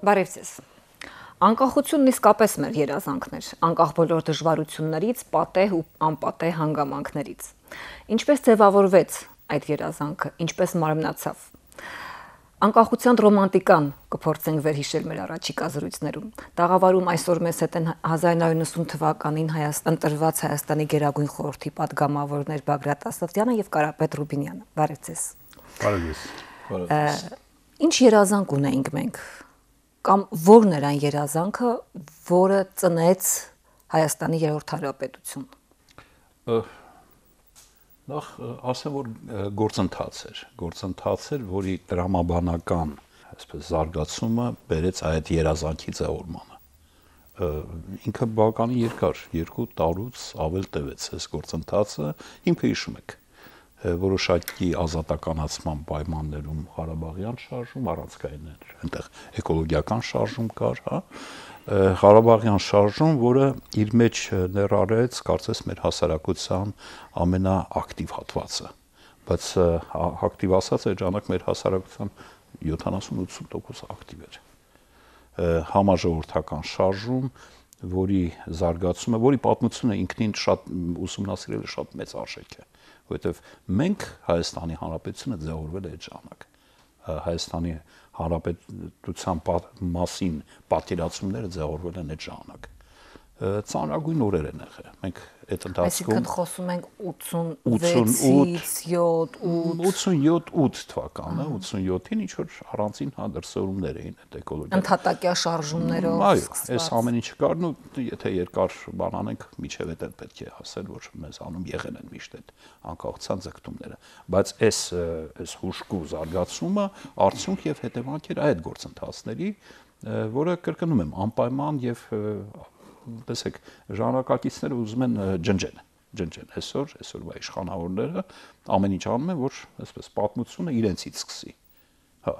Բարև ձեզ։ Անկախությունն իսկապես մեր երազանքն էր, անկախ բոլոր դժվարություններից, պատեհ ու անպատեհ հանգամանքներից։ Ինչպես ձևավորվեց այդ երազանքը, ինչպես մարմնացավ։ Անկախության ռոմանտիկան կփորձենք վերհիշել մեր առաջիկա զրույցներում։ Տաղավարում այսօր մեզ հետ են 1990 թվականին ընտրված Հայաստանի Գերագույն խորհրդի պատգամավորներ Բագրատ Ասատրյանը եւ Կարապետ Ռուբինյանը։ Բարև ձեզ։ Բարև ձեզ։ Ինչ երազանք ունեինք մենք, կամ որն էր այն երազանքը, որը ծնեց Հայաստանի երրորդ հանրապետություն։ Նախ ասեմ, որ գործընթաց էր, որի տրամաբանական, այսպես զարգացումը բերեց այդ երազանքի ձևորմանը։ Ինքը բավականին երկար, 2 տարուց ավել տևեց այս գործընթացը, ինքը հիշում եք, որոշակի ազատականացման պայմաններում Ղարաբաղյան շարժում, առանցքային էր, այնտեղ էկոլոգիական շարժում կար, հա, Ղարաբաղյան շարժում, որը իր մեջ ներառեց, կարծես մեր հասարակության ամենաակտիվ հատվածը, բայց ակտիվ ասած այդ ժամանակ մեր հասարակության 70-80% ակտիվ էր, համաժողովրդական շարժում, որի զարգացումը, որի պատմությունը ինքնին շատ ուսումնասիրելը շատ մեծ արժեք է, որովհետև մենք Հայաստանի Հանրապետությունը ձևավորվել է այդ ժամանակ, Հայաստանի Հանրապետության մասին պատկերացումները ձևավորվել են այդ ժամանակ, ծանրագույն օրեր են եղել, մենք այդ ընթացքում Այսինքն խոսում ենք 86-ից 87-8 թվականը, 87-ին ինչ-որ առանցին դրսևորումներ էին այդ էկոլոգիա։ Ընդհատակյա շարժումներով Այս ամեն ինչը կար, ու եթե երկար բան անենք, միջև այդ պետք է ասել, որ մեզ անում եղել են միշտ այդ անկախության ձգտումները, բայց այս հուժկու զարգացումը արդյունք եւ հետևանք էր այդ գործընթացների, որը կրկնում եմ, անպայման եւ տեսեք, ժամանակակիցները ուզում են ջնջեն այսօրվա իշխանավորները ամեն ինչ անում են, որ այսպես պատմությունը իրենցից սկսի։ Հա,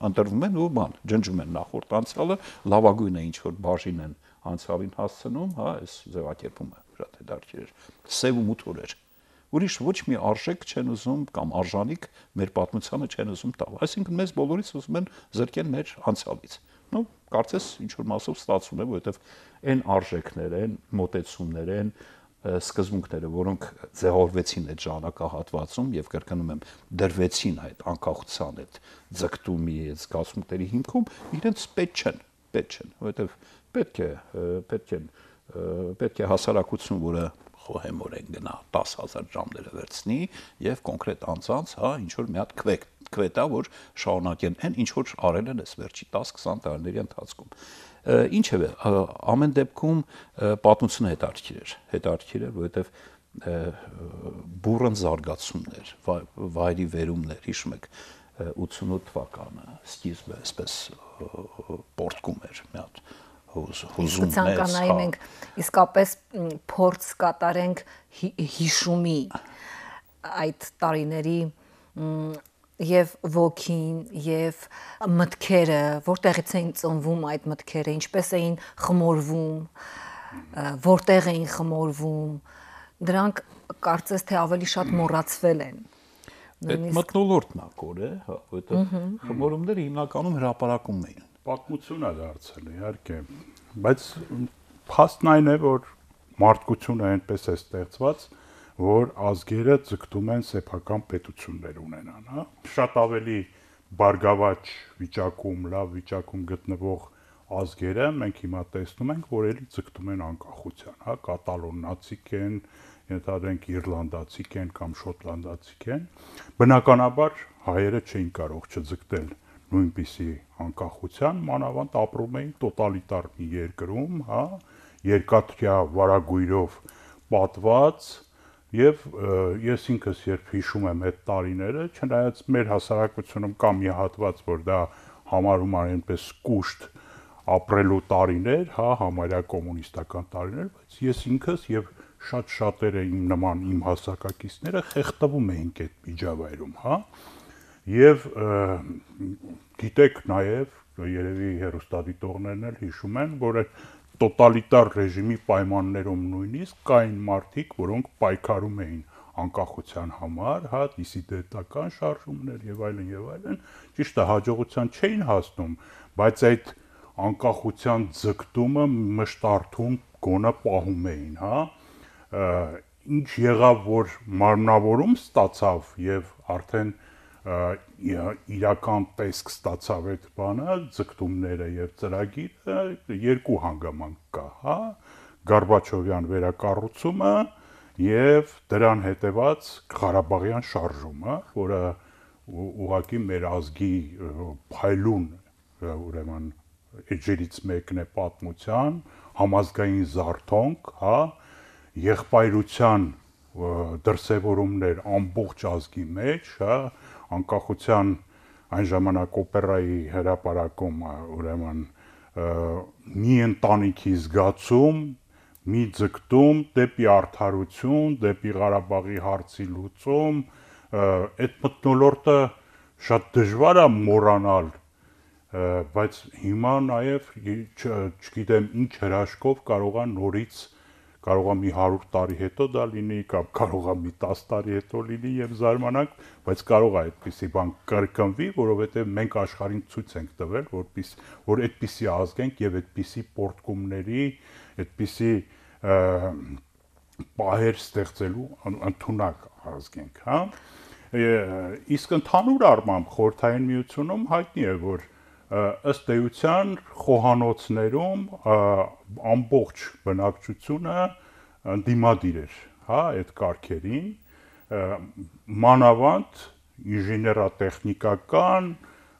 ընտրվում են ու ջնջում են նախորդ անցյալը, լավագույնը ինչ որ բաժին են անցյալին հասցնում, հա, այս ձևակերպումը շատ հետաքրքիր էր։ Սև ու մութ օրեր։ Ուրիշ ոչ մի արժեք չեն ուզում կամ արժանիք մեր պատմությանը չեն ուզում տալ։ Այսինքն մեզ բոլորից ուզում են զրկեն մեր անցյալից։ Ну, կարծես ինչ որ մասով ստացվում է, որովհետև այն արժեքները, այն մոտեցումները, այն սկզբունքները, որոնք ձևավորվեցին այդ ժամանակահատվածում եւ կրկնում եմ, դրվեցին այդ անկախության այդ ձգտումի, այդ զգացմունքների հիմքում, իրենց պետք չեն, որովհետև պետք է հասարակություն, որը խոհեմորեն գնա 10,000 ժամները վերցնի եւ կոնկրետ անձանց, հա, ինչ որ մի հատ քվետա, որ շարունակեն այն ինչ որ արել են այս վերջի 10-20 տարիների ընթացքում։ Ինչևէ, ամեն դեպքում պատմությունը հետաքրքիր էր, որովհետեւ բուրըն զարգացումներ, վայրի վերումներ, հիշում եք 88 թվականը, սկիզբը այսպես պորտկում էր մի հատ հուզում մեծ, մենք իսկապես փորձ կատարենք հիշումի այդ տարիների եւ ոգին եւ մտքերը, որտեղից էին ծնվում այդ մտքերը, ինչպես էին խմորվում, որտեղ էին խմորվում, դրանք կարծես թե ավելի շատ մոռացվել են։ Այդ մթնոլորտն է կորը, հա, որովհետեւ խմորումները հիմնականում հրապարակում էին։ Պատմություն է դարձել, իհարկե, բայց փաստն այն է, որ մարդկությունը այնպես է ստեղծված, որ ազգերը ձգտում են սեփական պետություններ ունենան, հա։ Շատ ավելի բարգավաճ վիճակում, լավ վիճակում գտնվող ազգերը մենք հիմա տեսնում ենք, որ էլի ձգտում են անկախության, հա, կատալոնացիք են, ենթադրենք իռլանդացիք են կամ շոտլանդացիք են։ Բնականաբար հայերը չէին կարող չձգտել նույնպիսի անկախության, մանավանդ ապրում էին տոտալիտար մի երկրում, հա, երկաթյա վարագույրով պատված եւ ես ինքս երբ հիշում եմ այդ տարիները, չնայած մեր հասարակությունում կա մի հատված, որ դա համարում են այնպես կուշտ ապրելու տարիներ, հա, համարյա կոմունիստական տարիներ, բայց ես ինքս եւ շատ շատերը իմ նման իմ հասակակիցները խեղդվում էինք այդ միջավայրում, հա։ Եվ գիտեք նաև, երևի հեռուստադիտողներն էլ հիշում են, որ այդ տոտալիտար ռեժիմի պայմաններում նույնիսկ կային մարդիկ, որոնք պայքարում էին անկախության համար, հա, դիսիդենտական շարժումներ եւ այլն, ճիշտ է, հաջողության չէին հասնում, բայց այդ անկախության ձգտումը մշտարթուն գոնը պահում էին, հա, ինչ եղավ, որ մարմնավորում ստացավ եւ արդեն իրական տեսք ստացավ այդ բանը, ձգտումները եւ ծրագիրը երկու հանգամանք կա, հա, Գորբաչովյան վերակառուցումը եւ դրան հետեւած Ղարաբաղյան շարժումը, որը ուղղակի մեր ազգի փայլուն, ուրեմն էջերից մեկն է պատմության, համազգային զարթոնք, հա, եղբայրության դրսևորումներ ամբողջ ազգի մեջ, հա, անկախության այն ժամանակ օպերայի հրապարակում, ուրեմն մի ընտանիքի զգացում, մի ձգտում դեպի արդարություն, դեպի Ղարաբաղի հարցի լուծում, այդ մթնոլորտը շատ դժվար է մոռանալ, բայց հիմա նաև չգիտեմ ինչ հրաշքով կարող է մի 100 տարի հետո դա լինի, կամ կարող է մի 10 տարի հետո լինի եւ զարմանանք, բայց կարող է այդպիսի բան կրկնվի, որովհետեւ մենք աշխարհին ցույց ենք տվել, որ այդպիսի ազգ ենք եւ այդպիսի պորտկումների, այդպիսի պահեր ստեղծելու ընդունակ ազգ ենք, հա։ Իսկ ընդհանուր առմամբ խորհրդային միությունում հայտնի է, որ ըստ էության խոհանոցներում ամբողջ բնակչությունը դիմադիր էր, հա, այդ կարգերին, մանավանդ ինժեներատեխնիկական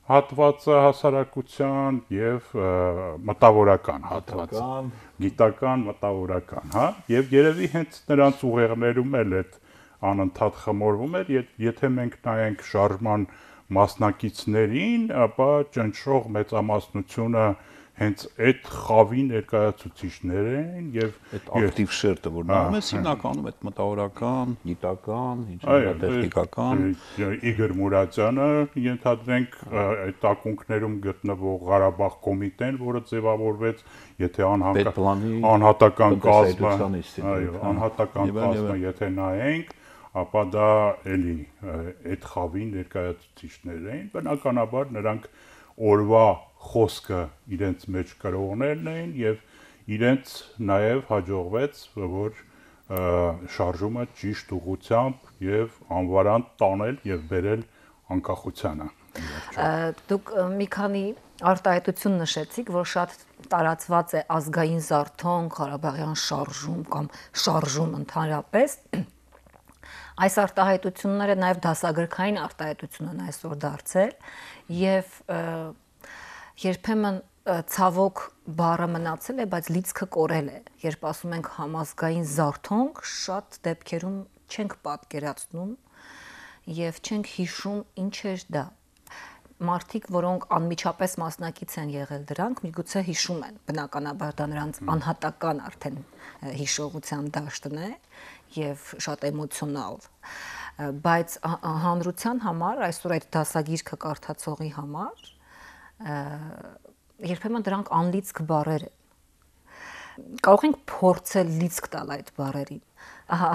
հատվածը հասարակության եւ մտավորական հատվածը, գիտական, մտավորական, հա, եւ երևի հենց նրանց ուղեղներում էլ այդ անընդհատ խմորվում էր, եթե մենք նայենք շարժման մասնակիցներին, ապա ճնշող մեծամասնությունը հենց այդ խավի ներկայացուցիչներ են եւ այդ ակտիվ շերտը, որ նայում ես հիմնականում այդ մտավորական, գիտական, ինժեներատեխնիկական, Իգոր Մուրադյանը ենթադրենք այդ ակունքներում գտնվող Ղարաբաղ կոմիտեն, որը ձևավորվեց, եթե անհատական կազմը, անհատական կազմը եթե նայենք, ապա դա էլի այդ խավի ներկայացուցիչներ էին, բնականաբար նրանք օրվա խոսքը իրենց մեջ կրողներն էին եւ իրենց նաեւ հաջողվեց, որ շարժումը ճիշտ ուղղությամբ եւ անվարան տանել եւ բերել անկախությանը։ Դուք մի քանի արտահայտություն նշեցիք, որ շատ տարածված է ազգային զարթոնք, Ղարաբաղյան շարժում կամ շարժում ընդհանրապես։ Այս արտահայտությունները նաև դասագրքային արտահայտություն են այսօր դարձել եւ երբեմն ցավոք բառը մնացել է, բայց լիցքը կորել է։ Երբ ասում ենք համազգային զարթոնք, շատ դեպքերում չենք պատկերացնում եւ չենք հիշում ինչ էր դա։ Մարդիկ, որոնք անմիջապես մասնակից են եղել դրանք, միգուցե հիշում են, բնականաբար դա նրանց անհատական արդեն հիշողության դաշտն է եւ շատ էմոցիոնալ, բայց հանրության համար, այսօր այդ դասագիրքը կարդացողի համար երբեմն դրանք անլիցք բառեր են։ Կարող ենք փորձել լիցք տալ այդ բառերին,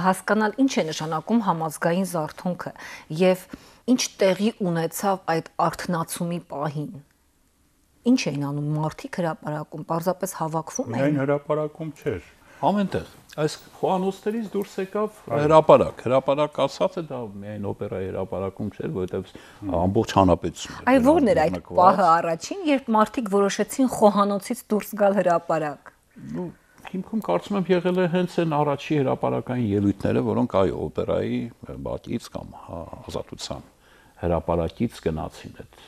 հասկանալ ինչ է նշանակում համազգային զարթոնքը եւ ինչ տեղի ունեցավ այդ արթնացումի պահին։ Ինչ էին անում մարդիկ հրապարակում, պարզապես հավաքվում էին։ Միայն հրապարակում չէր։ Ամենտեղ այս խոհանոցներից դուրս եկավ հրապարակ ասած է, դա միայն օպերայի հրապարակում չէր, որովհետև ամբողջ հանրապետությունն էր։ Այ ո՞րն էր այդ պահը առաջին, երբ մարդիկ որոշեցին խոհանոցից դուրս գալ հրապարակ։ Հիմքում կարծում եմ եղել է հենց այն առաջի հրապարակային ելույթները, որոնք այո, օպերայի բակից կամ ազատության հրապարակից գնացին այդ։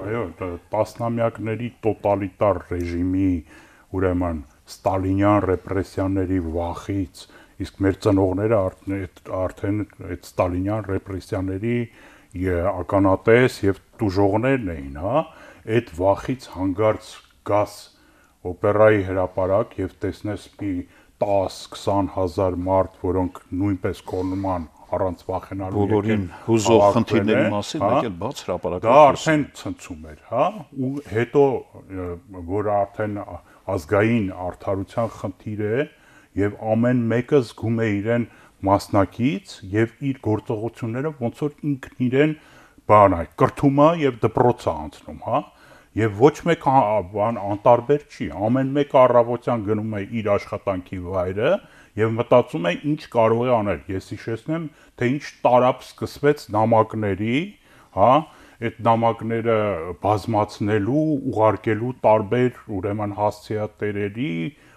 Այո, տասնամյակների տոտալիտար ռեժիմի, ուրեմն ստալինյան ռեպրեսիաների վախից, իսկ մեր ծնողները արդեն այդ ստալինյան ռեպրեսիաների ականատես եւ տուժողներն էին, հա, այդ վախից հանգարց գաս օպերայի հրապարակ եւ տեսնես մի 10-20 հազար մարդ, որոնք նույնպես կորնման առանց վախենալու բոլորին հուզող խնդիրների մասին մեկ էլ բաց հրապարակը դա արդեն ցնցում էր, հա, ու հետո որ արդեն ազգային արդարության խնդիր է եւ ամեն մեկը զգում է իրեն մասնակից եւ իր գործողությունները ոնց որ ինքն իրեն բան է կրթում է եւ դպրոց է անցնում, հա, եւ ոչ մեկ բան անտարբեր չի, ամեն մեկը առավոտյան գնում է իր աշխատանքի վայրը եւ մտածում է ինչ կարող է անել։ Ես հիշեցնեմ, թե ինչ տարապ սկսվեց նամակների, հա, այդ նամակները բազմացնելու, ուղարկելու տարբեր ուրեմն հասցեատերերի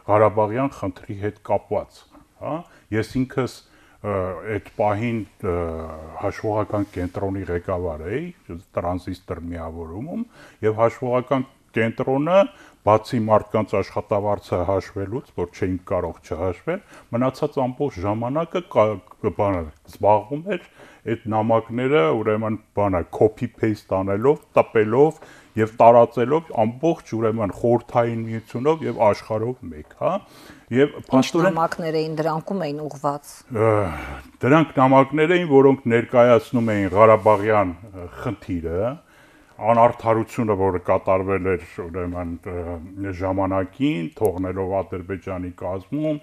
Ղարաբաղյան խնդրի հետ կապված, հա։ Ես ինքս այդ պահին հաշվողական կենտրոնի ղեկավար էի տրանզիստոր միավորումում եւ հաշվողական կենտրոնը բացի մարդկանց աշխատավարձը հաշվելուց, որ չէին կարող չհաշվել, մնացած ամբողջ ժամանակը զբաղվում էր այդ նամակները ուրեմն copy paste անելով, տպելով եւ տարածելով ամբողջ ուրեմն խորհրդային միությունով եւ աշխարհով մեկ, հա։ Եվ փաստորեն նամակներ էին դրանքում էին ուղված։ Դրանք նամակներ էին, որոնք ներկայացնում էին Ղարաբաղյան խնդիրը, անարդարությունը, որը կատարվել էր ուրեմն ժամանակին, թողնելով Ադրբեջանի կազմում,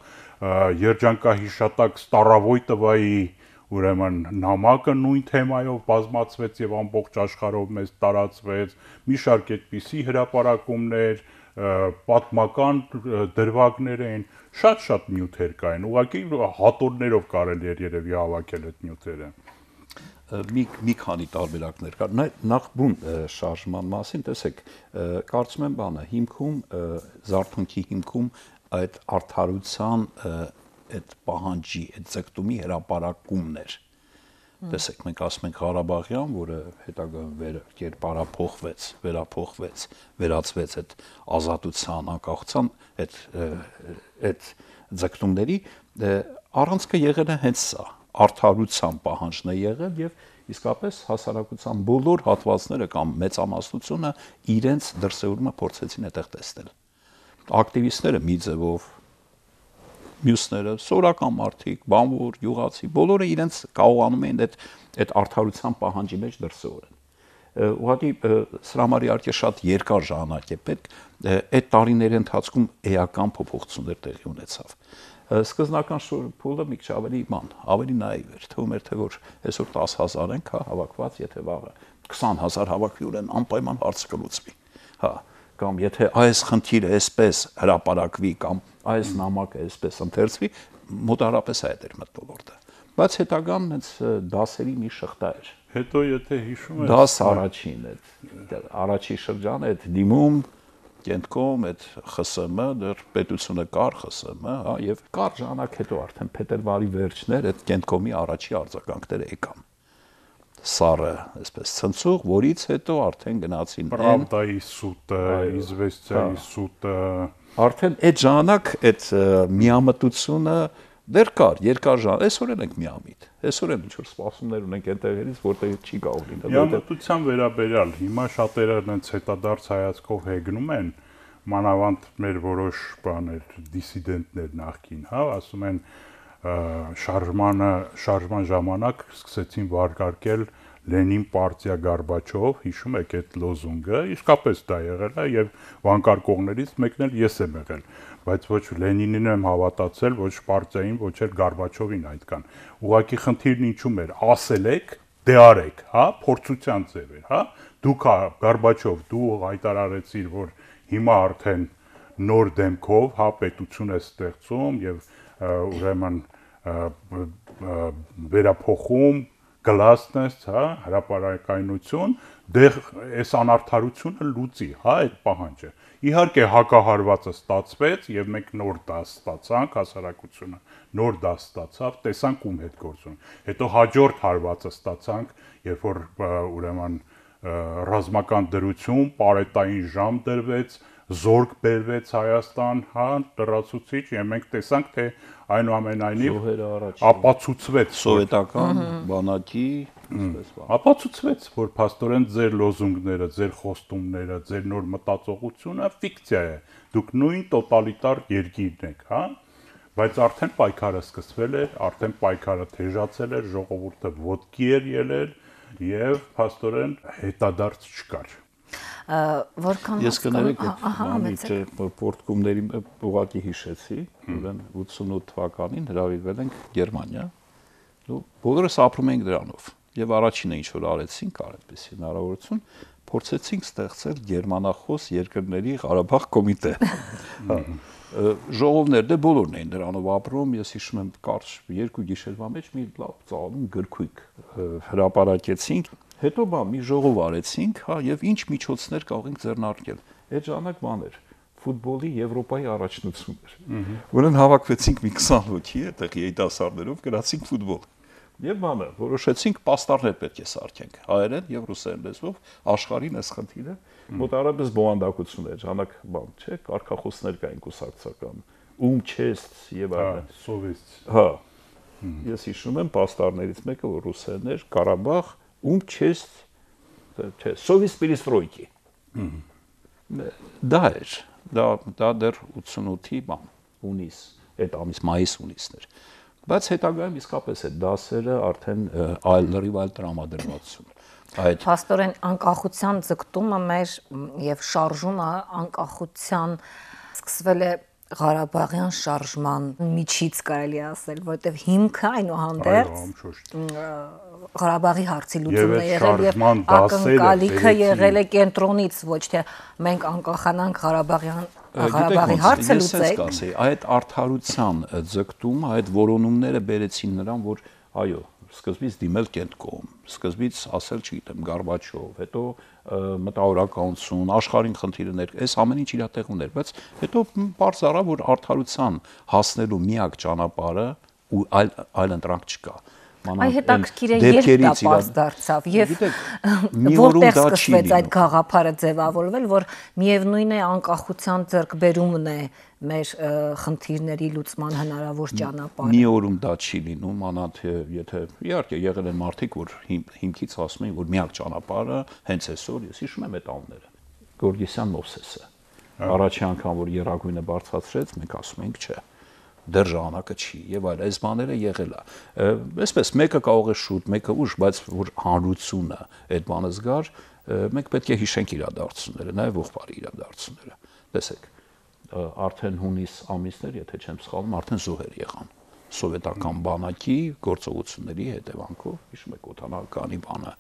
երջանկահիշատակ Ստարավոյտովայի ուրեմն նամակը նույն թեմայով բազմացվեց եւ ամբողջ աշխարհով մեծ տարածվեց, մի շարք այդպիսի հրապարակումներ, պատմական դրվագներ էին, շատ նյութեր կային, ուղղակի հատորներով կարելի էր երևի հավաքել այդ նյութերը։ Մի քանի տարբերակներ կար։ Նախ բուն շարժման մասին, տեսեք, կարծում եմ բանը, հիմքում զարթոնքի հիմքում այդ արդարության այդ պահանջի, այդ ձգտումի հրապարակումներ։ Տեսեք, մենք ասում ենք Ղարաբաղյան, որը հետագայում կերպարափոխվեց, վերածվեց այդ ազատության, անկախության այդ ձգտումների առանցքը եղել է հենց սա, արդարության պահանջն է եղել եւ իսկապես հասարակության բոլոր հատվածները կամ մեծամասնությունը իրենց դրսևորումը փորձեցին այդտեղ տեսնել։ Ակտիվիստները մի ձևով, մյուսները սորական մարդիկ, բանվոր, յուղացի, բոլորը իրենց կարողանում էին այդ արդարության պահանջի մեջ դրսևորել։ Ուղղակի սրա համար իհարկե շատ երկար ժամանակ է պետք, այդ տարիների ընթացքում էական փոփոխություններ տեղի ունեցավ։ Սկզբնական փուլը մի քիչ ավելի նաիվ էր, թվում էր թե որ այսօր 10,000 ենք հավաքված, եթե վաղը 20,000 հավաքվի ուրեմն անպայման հարցը կլուծվի, հա, կամ եթե այս խնդիրը այսպես հրապարակվի կամ այս նամակը այսպես ընթերցվի, մոտարապես այդ էր մթնոլորտը, բայց հետագան հենց դասերի մի շղթա էր։ Հետո եթե հիշում եք, դաս առաջի շրջանը այդ դիմում Կենտկոմ այդ ԽՍՀՄ դեռ պետությունը կար ԽՍՀՄ, հա, եւ կար ժամանակ հետո արդեն փետրվարի վերջներ այդ Կենտկոմի առաջի արձագանքները եկան։ Սարը, այսպես ցնցող, որից հետո արդեն գնացին Պրավդայի սուտը, Իզվեստիայի սուտը, արդեն այդ ժամանակ այդ միամտությունը դեռ կար, երկար ժամանակ, այսօր ենք միամիտ։ Այսօր ինչ որ սպասումներ ունենք այնտեղից, որտեղ չի կարող լինել։ Միամտության վերաբերյալ հիմա շատերը այնց հետադարձ հայացքով հեգնում են, մանավանդ մեր որոշ բաներ, դիսիդենտներ նախքին, հա, ասում են շարժման ժամանակ սկսեցին վարկարկել Լենին պարտիա Գորբաչով, հիշում եք այդ լոզունգը, իսկապես դա եղել է եւ վանկարկողներից մեկն էլ ես եմ եղել, բայց ոչ Լենինին եմ հավատացել, ոչ պարտիային, ոչ էլ Գորբաչովին այդքան։ Ուղղակի խնդիրն ինչու՞մ էր, ասել եք, դե արեք, հա, փորձության ձև էր, հա։ Դուք Գորբաչով, դու հայտարարեցիր, որ հիմա արդեն նոր դեմքով, հա, պետություն է ստեղծում եւ ուրեմն վերափոխում գլասնես, հա, հրապարակայնություն, դեղ այս անարդարությունը լուծի, հա, այդ պահանջը։ Իհարկե հակահարվածը ստացվեց եւ մենք նոր դաս ստացանք, հասարակությունը նոր դաս ստացավ, տեսանք ում հետ գործում։ Հետո հաջորդ հարվածը ստացանք, երբ որ ուրեմն ռազմական դրություն, պարետային ժամ դրվեց, զորք բերվեց Հայաստան, հա, լրացուցիչ, եւ մենք տեսանք, թե այնուամենայնիվ ապացուցվեց սովետական բանակի, ապացուցվեց, որ փաստորեն ձեր լոզունգները, ձեր խոստումները, ձեր նոր մտածողությունը ֆիկցիա է։ Դուք նույն տոտալիտար երկիրն եք, հա, բայց արդեն պայքարը սկսվել էր, արդեն պայքարը թեժացել էր, ժողովուրդը ոտքի էր ելել եւ փաստորեն հետադարձ չկար։ Ես կներեք այդ պորտկումների ուղղակի հիշեցի, ուրեմն 88 թվականին հրավիրվել ենք Գերմանիա, բոլորս ապրում ենք դրանով եւ առաջինը ինչ որ արեցինք, այդպես հնարավորություն, փորձեցինք ստեղծել գերմանախոս երկրների Ղարաբաղ կոմիտե։ Ժողովներ դե բոլորն էին դրանով ապրում, ես հիշում եմ կարճ 2 գիշերվա մեջ մի լավ ծանոթ գրքույկ հրապարակեցինք, հետո մի ժողով արեցինք, հա, եւ ինչ միջոցներ կարող ենք ձեռնարկել։ Այդ ժամանակ բան էր ֆուտբոլի Եվրոպայի առաջնություն էր։ Որն հավաքվեցինք մի 20 հոգի, այդտեղ երիտասարդներով գնացինք ֆուտբոլ։ Եվ բանը որոշեցինք պաստառներ պետք է սարքենք հայերեն եւ ռուսերեն լեզվով աշխարհին այս խնդիրը մոտարապես բովանդակություն էր, ժամանակ բան չէ, կարգախոսներ կային կուսակցական, չեստ եւ այլն, սովիստ։ Հա։ Ես հիշում եմ պաստառներից մեկը որ ռուսերեն էր, Ղարաբաղ, չեստ, չէ, սովիստ պերիստրոյկի։ Դա էր, դա դեռ 88-ի բան, հունիս, այդ ամիս մայիս-հունիսն էր։ Բայց հետագայում իսկապես այդ դասերը արդեն լրիվ այլ տրամադրվածություն։ Փաստորեն անկախության ձգտումը մեր եւ շարժումը անկախության սկսվել է Ղարաբաղյան շարժման միջից կարելի ասել, որտեղ հիմքը այնուհանդերձ Ղարաբաղի հարցի լուծումն է եղել եւ ակնկալիքը եղել է կենտրոնից, ոչ թե մենք անկախանանք Ղարաբաղի հարցը լուծենք։ Այդ արդարության ձգտումը, այդ որոնումները բերեցին նրան, որ այո, սկզբից դիմել կենտկոմ, սկզբից ասել, չգիտեմ, Գորբաչով, հետո մտավորականություն, աշխարհին խնդիրներ, այս ամեն ինչ իր տեղում էր, բայց հետո բարձ առավ, որ արդարության հասնելու միակ ճանապարհը ու այլ ընտրանք չկա։ Այ հետաքրքիր է երբ դա պարզ դարձավ եւ որտեղ սկսվեց այդ գաղափարը ձևավորվել, որ միևնույն է անկախության ձեռքբերումն է մեր խնդիրների լուծման հնարավոր ճանապարհը։ Մի օրում դա չի լինում, անանդ եթե իհարկե եղել են մարդիկ, որ հիմքից ասում են, որ միակ ճանապարհը հենց այսօր, ես հիշում եմ այդ անունները, Գորգիսյան Մովսեսը։ Առաջի անգամ որ երագույնը բարձրացրեց, մենք ասում ենք չէ։ Դեռ ժամանակը չի եւ այլ այս բաները եղել է այսպես մեկը կարող է շուտ մեկը ուշ բայց որ հանրությունը այդ բանը զգար մենք պետք է հիշենք իրադարձությունները նաեւ ողբարի իրադարձությունները տեսեք արդեն հունիս ամիսներ եթե չեմ սխալվում արդեն զոհեր եղան սովետական բանակի գործողությունների հետևանքով հիշում եք օտանավականի բանը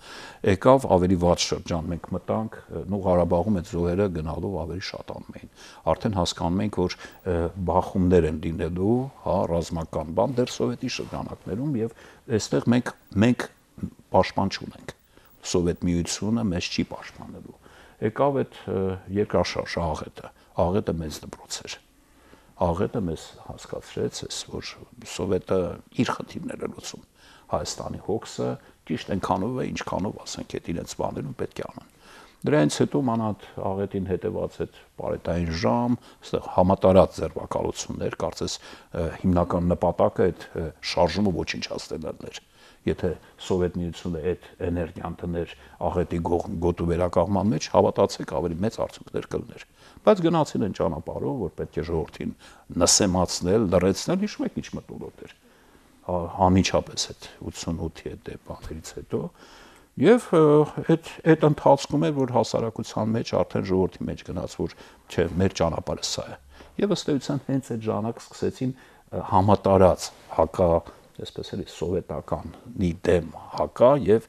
եկավ ավելի վատ շրջան մենք մտանք նո Ղարաբաղում այդ զոհերը գնալով ավելի շատանում էին արդեն հասկանում ենք որ բախումներ են լինելու հա ռազմական բան դեռ սովետի շրջանակներում եւ այստեղ մենք պաշտպան չունենք սովետ միությունը մեզ չի պաշտպանելու եկավ այդ երկրաշարժ աղետը մեծ դպրոց էր աղետը մեզ հասկացրեց, որ սովետը իր խնդիրները լուծում։ Հայաստանի հոգսը ճիշտ այնքանով է, ինչքանով ասենք այդ իրենց բաներում պետք է անեն։ Դրանից հետո մանած աղետին հետևած այդ պարետային ժամ, այստեղ համատարած ձերբակալություններ, կարծես հիմնական նպատակը այդ շարժումը ոչնչացնելն էր։ Եթե Սովետ միությունը այդ էներգիան տներ աղետի գոտու վերականգնման մեջ, հավատացեք ավելի մեծ արդյունքներ կլներ։ Բայց գնացին են ճանապարհով, որ պետք է ժողովրդին նսեմացնել, լրացնել, հիշում եք ինչ մտորոտ էր։ Անմիջապես այդ 88-ի այդ բաներից հետո եւ այդ ընթացքում էր, որ հասարակության մեջ արդեն ժողովրդի մեջ գնաց, որ չէ, մեր ճանապարհը սա է։ Եվ ըստ էության հենց այդ ժամանակ սկսեցին համատարած հակա այսպես էլի սովետականի դեմ հակա եւ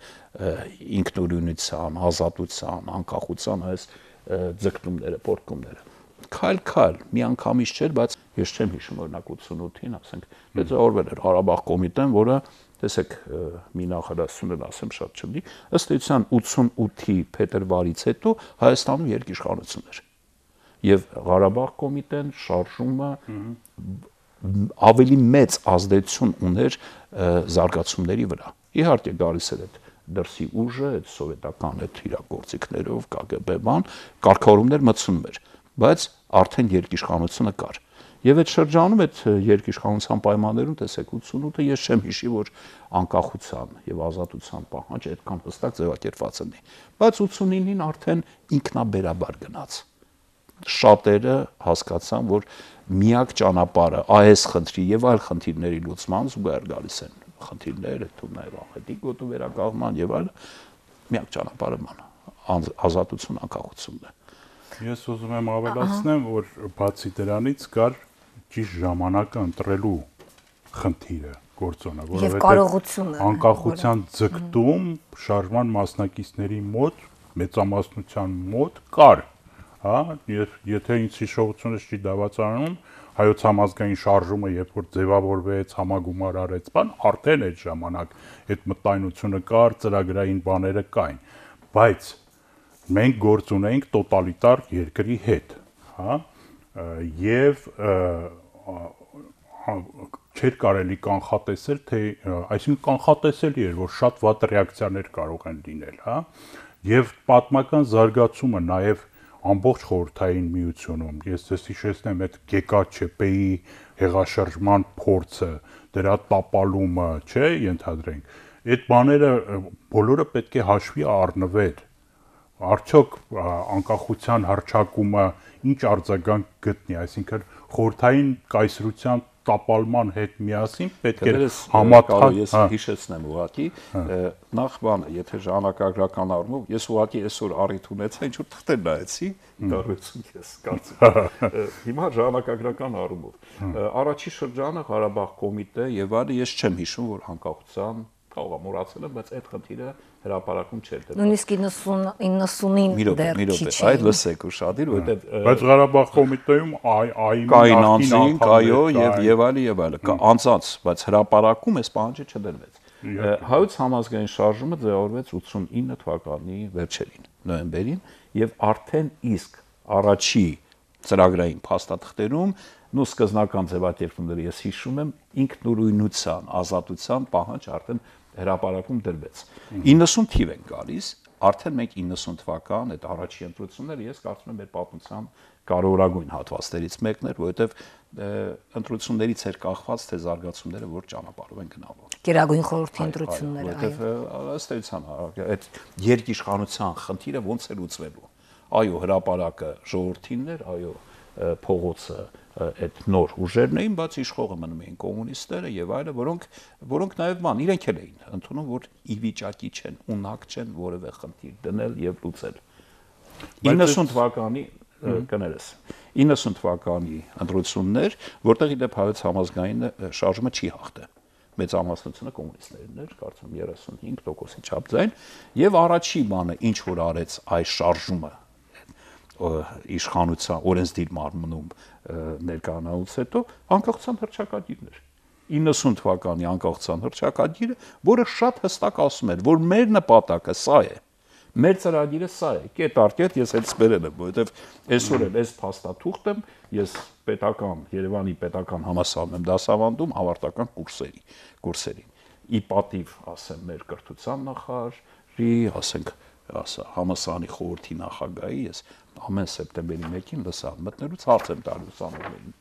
ինքնուրույնության, ազատության, անկախության այս ձգտումները, պոռթկումները։ Քայլ, միանգամից չէր, բայց ես չեմ հիշում օրինակ 88-ին, ասենք, ձևավորվել էր Ղարաբաղ կոմիտեն, որը տեսեք մի նախադասություն ասեմ շատ չլինի, ըստ էության 88-ի փետրվարից հետո Հայաստանում երկիշխանություն էր։ Եվ Ղարաբաղ կոմիտեն շարժումը ավելի մեծ ազդեցություն ուներ զարգացումների վրա։ Իհարկե գալիս էր այդ դրսի ուժը, այդ սովետական այդ իրագործիքներով, KGB բան, կարգավորումներ մտցնում էր, բայց արդեն երկիշխանությունը կար։ Եվ այդ շրջանում այդ երկիշխանության պայմաններում տեսեք 88-ը ես չեմ հիշի, որ անկախության եւ ազատության պահանջ այդքան հստակ ձևակերպված լինի։ Բայց 89-ին արդեն ինքնաբերաբար գնաց։ Շատերը հասկացան, որ միակ ճանապարհը այս խնդրի եւ այլ խնդիրների լուծման զուգահեռ գալիս են խնդիրները, թվում նաեւ աղետի գոտու վերականգնման եւ այլ միակ ճանապարհը ազատություն, անկախությունն է։ Ես ուզում եմ ավելացնեմ, որ բացի դրանից կար ճիշտ ժամանակը ընտրելու խնդիրը գործոնը, որովհետեւ անկախության ձգտում շարժման մասնակիցների մոտ մեծամասնության մոտ կար, հա, եթե ինձ հիշողությունս չի դավաճանում, հայոց համազգային շարժումը երբ որ ձևավորվեց, համագումար արեց, արդեն այդ ժամանակ այդ մտայնությունը կար, ծրագրային բաները կային, բայց մենք գործ ունեինք տոտալիտար երկրի հետ, հա, եւ չէր կարելի կանխատեսել, թե այսինքն կանխատեսելի էր, որ շատ վատ ռեակցիաներ կարող են լինել, հա, եւ պատմական զարգացումը նաեւ ամբողջ խորհրդային միությունում, ես ձեզ հիշեցնեմ այդ GKÇՊ-ի հեղաշրջման փորձը, դրա տապալումը, չէ, ենթադրենք, այդ բաները բոլորը պետք է հաշվի առնվեր, արդյոք անկախության հռչակումը ինչ արձագանք գտնի, այսինքն խորհրդային կայսրության տապալման հետ միասին պետք է համատեղ ես հիշեցնեմ ուղղակի նախ բանը եթե ժամանակագրական առումով ես ուղղակի այսօր առիթ ունեցա ինչ որ թղթեր նայեցի դառնություն ես կարծում հիմա ժամանակագրական առումով առաջի շրջանը Ղարաբաղ կոմիտե եւ այլը ես չեմ հիշում որ անկախության կարող եմ մոռացել եմ բայց այդ խնդիրը հրապարակում չէր դեռ նույնիսկ 90-ին դեռ քիչ է այդ լսեք ուշադիր որովհետեւ բայց Ղարաբաղ կոմիտեում կային անձինք այո եւ այլը անցած բայց հրապարակում այս պահանջը չդրվեց հայոց համազգային շարժումը ձևավորվեց 89 թվականի վերջերին նոյեմբերին եւ արդեն իսկ առաջի ծրագրային փաստաթղթերում նո սկզբնական ձևակերպումները ես հիշում եմ ինքնուրույնության ազատության պահանջ արդեն հրապարակում դրվեց 90 թիվ են գալիս արդեն մենք 90 թվական այդ առաջի ընտրությունները ես կարծում եմ մեր պատմության կարևորագույն հատվածներից մեկն էր որովհետև ընտրություններից էր կախված թե զարգացումները որ ճանապարհով են գնալու Գերագույն խորհրդի ընտրությունները որովհետև ըստ էության այդ երկիշխանության խնդիրը ոնց է լուծվելու այո հրապարակը ժողովրդինն էր այո փողոցը այդ նոր ուժերն էին, բայց իշխողը մնում էին կոմունիստները եւ այլը, որոնք նաեւ իրենք էլ էին ընդունում, որ ի վիճակի չեն, ունակ չեն որևէ խնդիր դնել եւ լուծել։ 90 թվականի կներես 90 թվականի ընտրություններ, որտեղ իդեպ հայոց համազգային շարժումը չի հաղթել։ Մեծամասնությունը կոմունիստներն էր, կարծում 35%-ի չափ ձայն, եւ առաջի բանը ինչ որ արեց այս շարժումը իշխանության օրենսդիր մարմնում ներկայանալուց հետո անկախության հռչակագիրն էր 90 թվականի անկախության հռչակագիրը որը շատ հստակ ասում էր որ մեր նպատակը սա է մեր ծրագիրը սա է կետ առ կետ ես այդ սպերել եմ որովհետև այսօր էլ այս փաստաթուղթ եմ ես պետական Երևանի պետական համալսարանում եմ դասավանդում ավարտական կուրսերին ի պատիվ ասեմ մեր կրթության նախարարի ասենք համալսարանի խորհրդի նախագահի ես ամեն սեպտեմբերի 1-ին լսավ մտնելուց հարց եմ տալու ուսանողներին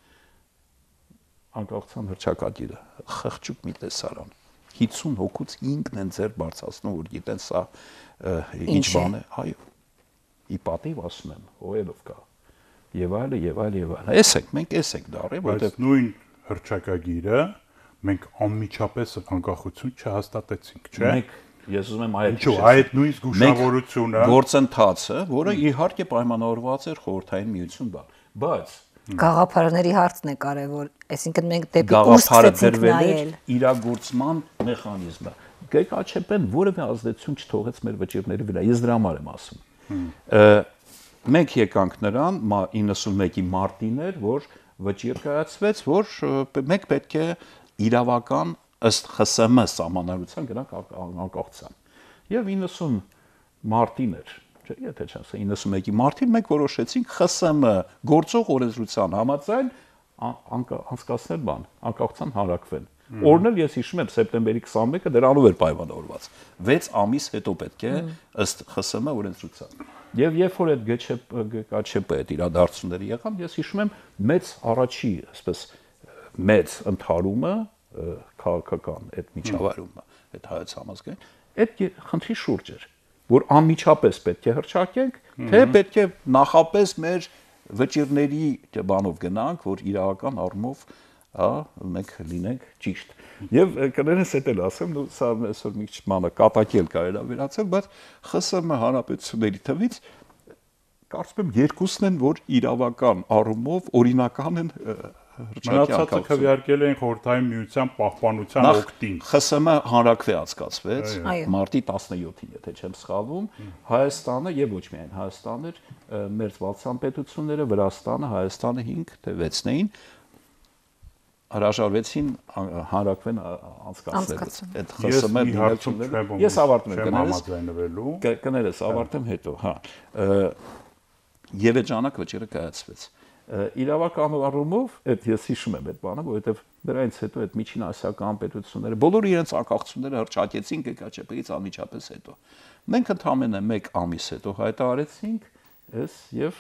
անկախության հռչակագիրը խղճուկ մի տեսարան 50 հոգուց 5-ն են ձեր բարձրացնում որ գիտեն սա ինչ բան է այո ի պատիվ ասում եմ ովելով կա եւ այլը էսենք մենք էսենք դարի որտեղ նույն հռչակագիրը մենք անմիջապես անկախություն չհաստատեցինք չէ Ես ուզում եմ այդ այդ նույն զգուշավորությունը գործընթացը, որը իհարկե պայմանավորված էր խորհրդային միություն բայց գաղափարների հարցն է կարևոր, այսինքն մենք դեպի ուր սկսեցինք նայել իրագործման մեխանիզմը։ ԳԿ-ն որևէ ազդեցություն չթողեց մեր վճիռների վրա, ես դրա համար եմ ասում։ Մենք եկանք նրան 91-ի մարտին էր, որ վճիռ կայացվեց, որ մենք պետք է իրավական ըստ ԽՍՀՄ սահմանադրության գնանք անկախության։ Եվ 90 մարտին էր, չէ՞, եթե չեմ ասա 91-ի մարտին մենք որոշեցինք ԽՍՀՄ գործող օրենսդրության համաձայն անցկացնել անկախության հանրակրվեն։ Օրն էլ ես հիշում եմ սեպտեմբերի 21-ը դրանով էր պայմանավորված։ 6 ամիս հետո պետք է ըստ ԽՍՀՄ օրենսդրության։ Եվ երբ որ այդ ԳԿ այդ իրադարձությունները եղան, ես հիշում եմ մեծ առաջի, այսպես մեծ ընդհարումը քաղաքական այդ միջավայրումը, այդ հայոց համազգային, այդ խնդրի շուրջ էր, որ անմիջապես պետք է հռչակենք, թե պետք է նախապես մեր վճիռների բանով գնանք, որ իրավական առումով, մենք լինենք ճիշտ։ Եվ կներես էդ էլ ասեմ, սա այսօր մի քիչ մանը կատակել կարելի է վերացել, բայց ԽՍՀՄ հանրապետությունների թվից կարծում եմ երկուսն են, որ իրավական առումով օրինական են Մնացածը քվեարկել էին խորհրդային միության պահպանության օգտին։ ԽՍՀՄ հանրաքվե անցկացվեց մարտի 17-ին, եթե չեմ սխալվում, Հայաստանը եւ ոչ միայն Հայաստանը, մերձբալթյան պետությունները, Վրաստանը, Հայաստանը 5 թե 6-ն էին հրաժարվեցին հանրաքվեն անցկացնելուց։ Այդ ԽՍՀՄ դիմացությունները ես ավարտում եմ կներես ավարտեմ հետո, հա։ Եվ այդ ժամանակ վճիռը կայացվեց։ Իրավական առումով այդ ես հիշում եմ այդ բանը, որովհետև դրանից հետո այդ միջին ասիական պետությունները բոլորը իրենց անկախությունները հռչակեցին ԳԿՉՊ-ից անմիջապես հետո։ Մենք ընդամենը 1 ամիս հետո հայտարարեցինք ես եւ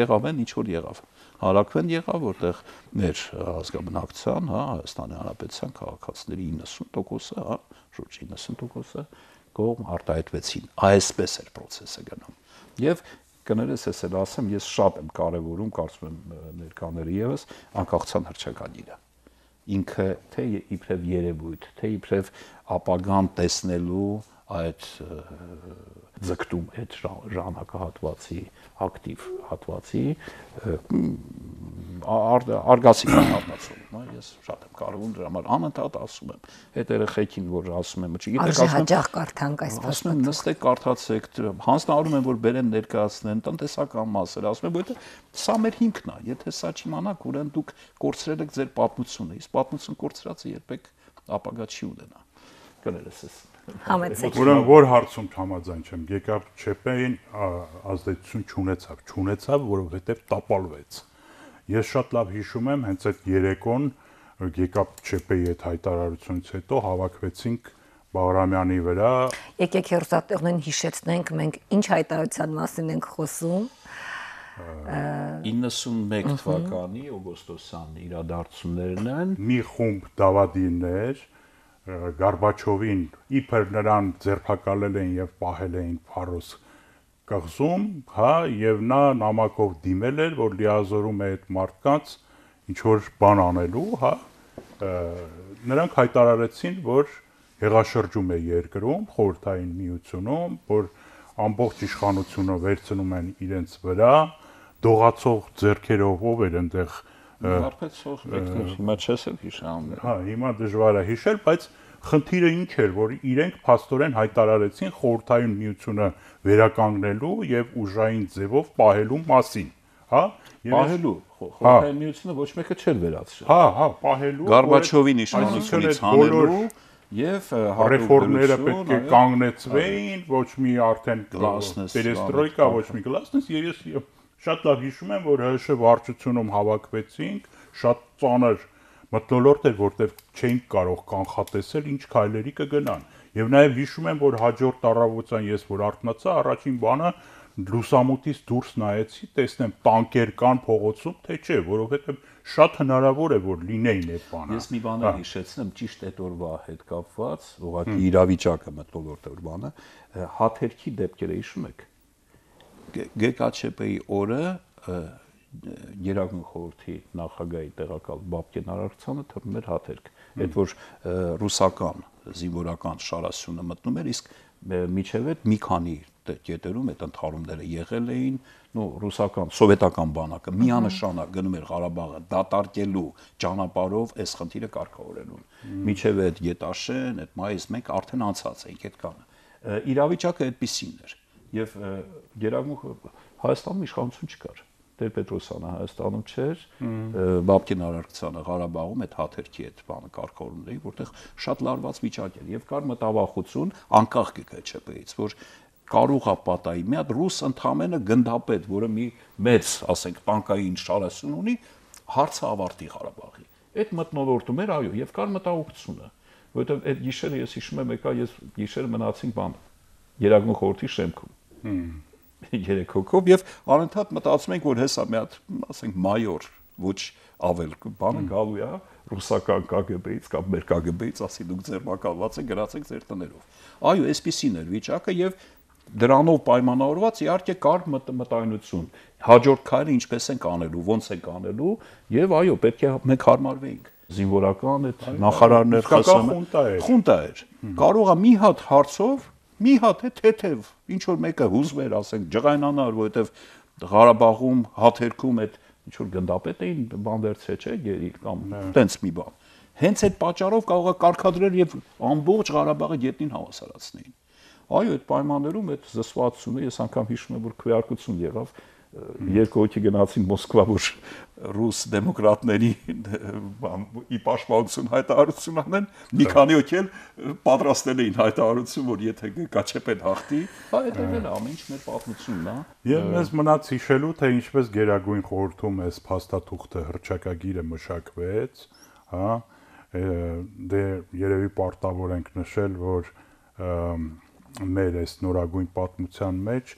եղավ են ինչ որ եղավ։ Հանրաքվեն եղավ, որտեղ մեր ազգաբնակության, հա, Հայաստանի Հանրապետության քաղաքացիների 90%-ը, հա, շուրջ 90%-ը կողմ արտահայտվեցին։ Այսպես էր process-ը գնում։ Եվ կներես ես էլ ասեմ, ես շատ եմ կարևորում, կարծում եմ ներկաները եւս անկախության հռչականիրը։ Ինքը թե իբրև երևույթ, թե իբրև ապագան տեսնելու այդ ձգտում այդ ժամանակահատվածի ակտիվ հատվածի արգասիկ առնացում, հա, ես շատ եմ կարևորում դրա համար անընդհատ ասում եմ այդ երեխեքին, որ ասում եմ, չգիտեք, հաճախ կարդանք այս փաստը, նստեք կարդացեք, հանձնարարում են, որ բերեն ներկայացնեն տնտեսական մասեր, ասում եմ, որովհետեւ սա մեր հիմքն է, եթե սա չիմանաք, ուրեմն դուք կորցրել եք ձեր պատմությունը, իսկ պատմություն կորցրածը երբեք ապագա չի ունենա։ Կներես ես Համեցեք։ Ուրեմն որ հարցում համաձայն չեմ, ԳԿ-ՉՊ-ին ազդեցություն չունեցավ, որովհետև տապալվեց։ Ես շատ լավ հիշում եմ, հենց այդ երեկոն ԳԿ-ЧՊ-ի այդ հայտարարությունից հետո հավաքվեցինք Բաղրամյանի վրա։ Եկեք հերոսատեղներին հիշեցնենք, մենք ինչ հայտարարության մասին ենք խոսում։ 91 թվականի օգոստոսյան իրադարձություններն են։ Մի խումբ դավադիրներ Գորբաչովին իբր նրան ձերբակալել են եւ պահել էին Փարոս կղզում, հա, եւ նա նամակով դիմել էր, որ լիազորում է այդ մարդկանց ինչ որ բան անելու, հա, նրանք հայտարարեցին, որ հեղաշրջում է երկրում, խորհրդային միությունում, որ ամբողջ իշխանությունը վերցնում են իրենց վրա, դողացող ձեռքերով ով էր այնտեղ Վարպետցող եկներ, հիմա չես էլ հիշում։ Հա, հիմա դժվար է հիշել, բայց խնդիրը ինչ էր, որ իրենք փաստորեն հայտարարեցին խորհրդային միությունը վերականգնելու եւ ուժային ձևով պահելու մասին, հա? Պահելու, խորհրդային միությունը ոչ մեկը չէր վերացրել։ Հա, պահելու։ Գորբաչովին իշխանությունից հանելու եւ ռեֆորմները պետք է կանգնեցվեին, ոչ մի արդեն պերեստրոյկա, ոչ մի գլասնես, ես շատ լավ հիշում եմ, որ ՀՀՇ վարչությունում հավաքվեցինք, շատ ծանր մթնոլորտ էր, որտեղ չէինք կարող կանխատեսել ինչ քայլերի կգնան։ Եվ նաև հիշում եմ, որ հաջորդ առավոտյան ես որ արթնացա, առաջին բանը լուսամուտից դուրս նայեցի, տեսնեմ տանկեր կան փողոցում, թե չէ, որովհետև շատ հնարավոր է, որ լինեին այդ բանը։ Ես մի բան եմ հիշեցնում, ճիշտ այդ օրվա հետ կապված, ուղղակի իրավիճակը մթնոլորտը բանը, հաթերքի դեպքերը հիշում եք։ ԳԿ-ЧՊ-ի օրը Գերագույն խորհրդի նախագահի տեղակալ Բաբկեն Արարքցյանը թռնում էր հաթերք, այդ որ ռուսական զինվորական շարասյունը մտնում էր, իսկ միջև այդ մի քանի կետերում այդ ընդհարումները եղել էին, ռուսական սովետական բանակը միանշանակ գնում էր Ղարաբաղը դատարկելու ճանապարհով այս խնդիրը կարգավորելուն։ Միջև այդ Գետաշեն, այդ մայիս 1 արդեն անցած էինք այդ կանը։ Իրավիճակը այդպիսին էր։ Եվ Գերագույն Հայաստանում իշխանություն չկար։ Տեր-Պետրոսյանը Հայաստանում չէր, Բաբկեն Արարքցյանը Ղարաբաղում այդ հաթերքի այդ բանը կարգավորում էր, որտեղ շատ լարված վիճակ էր եւ կար մտավախություն անկախ ԳԿ-ЧՊ-ից, որ կարող է պատահի մի հատ ռուս ընդամենը գնդապետ, որը մի մեծ, ասենք, տանկային շարասյուն ունի, հարցը ավարտի Ղարաբաղի։ Այդ մտնոլորտում էր, այո, եւ կար մտահոգությունը, որովհետեւ այդ գիշերը ես հիշում եմ, եկա ես գիշերը մնացինք բան Գերագույն խորհրդի շեմքում։ 3 հոգով եւ անընդհատ մտածում ենք, որ հեսա մի հատ, ասենք, մայոր, ոչ ավել բանը գալու է ռուսական ԿԳԲ-ից կամ մեր ԿԳԲ-ից, ասի դուք ձերբակալված եք, գրացեք ձեր տներով։ Այո, այսպեսին էր վիճակը եւ դրանով պայմանավորված իհարկե կար մտայնություն։ Հաջորդ քայլը ինչպես ենք անելու, ոնց ենք անելու եւ այո, պետք է մենք հարմարվեինք։ Զինվորական այդ նախարարներ խունտա էր։ Կարող է մի հատ հարցով մի հատ է թեթև ինչ որ մեկը հուզվեր, ասենք, ջղայնանար, որովհետև Ղարաբաղում հաթերքում այդ ինչ որ գնդապետ էին բանդերցե, չէ, գերի կամ տենց մի բան։ Հենց այդ պատճառով կարող է կարգադրել եւ ամբողջ Ղարաբաղը գետնին հավասարացնեին։ Այո, այդ պայմաններում այդ զսպվածությունը ես անգամ հիշում եմ, որ քվեարկություն եղավ, երկու հոգի գնացին Մոսկվա, որ ռուս դեմոկրատների ի պաշտպանություն հայտարարություն անեն, մի քանի հոգի էլ պատրաստել էին հայտարարություն, որ եթե Կաչեպեն հաղթի, հետևել է ամեն ինչ մեր պատմությունն է։ Եվ մեզ մնաց հիշելու, թե ինչպես Գերագույն խորհրդում այս փաստաթուղթը հռչակագիրը մշակվեց, հա, դե երևի պարտավոր ենք նշել, որ մեր այս նորագույն պատմության մեջ